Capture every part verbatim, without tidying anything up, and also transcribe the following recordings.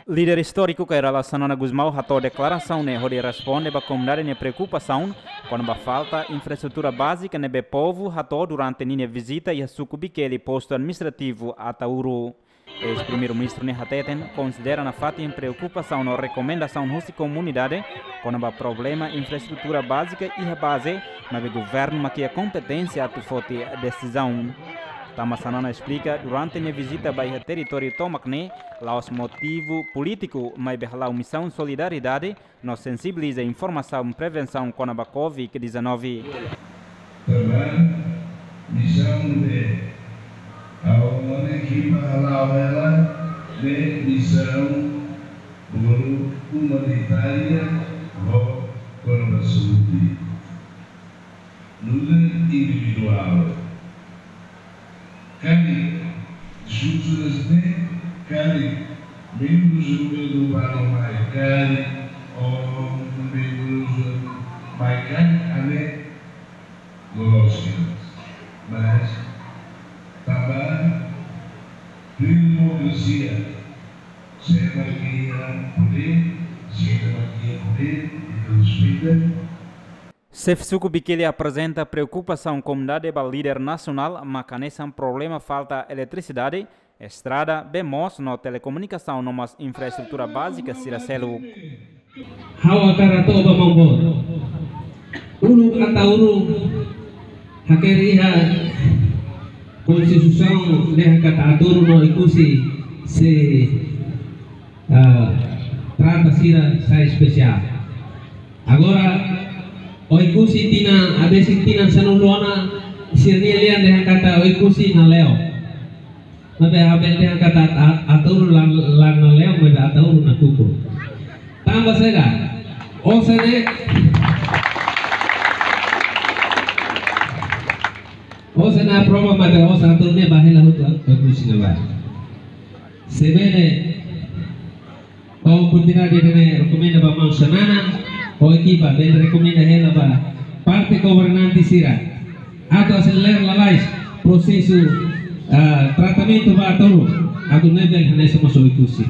Líder istóriku Kay Rala Xanana Gusmão hato'o deklarasaun ne'e hodi responde ba komunidade nia preokupasaun kona-ba falta infraestrutura bázika ne'ebé povu hato'o durante ninia vizita iha suku Bikeli, postu administrativu Ataúro. Eis-Primeiru-Ministru ne'e hateten konsidera nafatin preokupasaun no rekomendasaun husi komunidade kona-ba problema infraestrutura bázika iha baze, maibé governu mak iha kompeténsia atu foti desizaun. Tanba Xanana esplika, durante nia vizita ba iha territóriu tomak ne'e, la'ós motivu polítiku, maibé hala'o misaun solidariedade no sensibiliza informasaun prevensaun kona-ba covid dezanove. Tanba misaun ne'e, ha'u-nia ekipa hala'o hela, ne'e misaun boru umanitária ho kona-ba saúde. Nu'udar individuál. Karik diskursu ne'e, karik membrus governu balu mai, karik, oh, membrus mai, karik, ane loloos. Mas tanba demokrasia, se mak iha podér, se mak iha podér, ita respeita. Xefe suku Bikeli aprezenta preokupasaun komunidade ba líder nasionál, mak hanesan problema falta eletrisidade, estrada, bee moos no telekomunikasaun no mós infraestrutura bázika sira seluk. Ha'u hakarak hato'o ba maun boot. Uluk Ataúro hakerek iha konstituisaun dehan katak Ataúro no Oekusi sei, ah, trata sira sai espesiál. Agora, Oekusi tinan, adesin tinan sanulu ona, sira-nia lian dehan katak Oekusi nale'o. Maibé ha'u bele dehan katak A-, Ataúro la, la nale'o, maibé Ataúro nakukun. Tanba saida? Osan ne'e, osan ne'e aprova, maibé osan Ataúro ne'e ba hela hotu, Oekusi ne'ebá. Se bele, oportunidade ida-ne'e rekomenda ba maun Xanana, ho ekipa, bele rekomenda hela ba parte governante sira atu aselera lalais prosesu, ah, tratamentu ba Ataúro, atu nune'e bele hanesan mós Oekusi.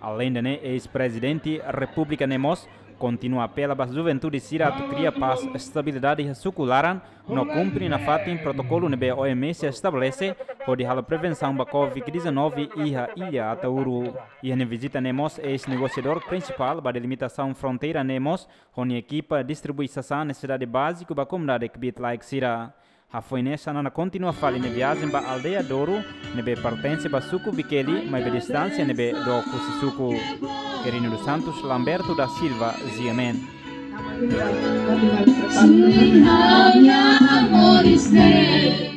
Aleinde ne'e, eis-Prezidente Repúblika ne'e mós kontinua apela ba juventude sira atu kria pás, estabilidade iha suku laran, no kumpre nafatin protokolu ne'ebé O M S estabelese, hodi halo prevensaun ba covid dezanove iha Illa Ataúro. Iha nia vizita ne'e mós, eis-negosiadór prinsipál ba delimitasaun fronteira ne'e mós, ho nia ekipa distribui sasán nesesidade báziku ba komunidade kbiit-laek sira. Hafoin ne'e Xanana kontinua fali nia viajen ba aldeia Douro, ne'ebé pertense ba suku Bikeli, maibé distánsia ne'ebé dook husi suku. Quirino dos Santos, Lamberto da Silva, G M N. Sin hanya moris de.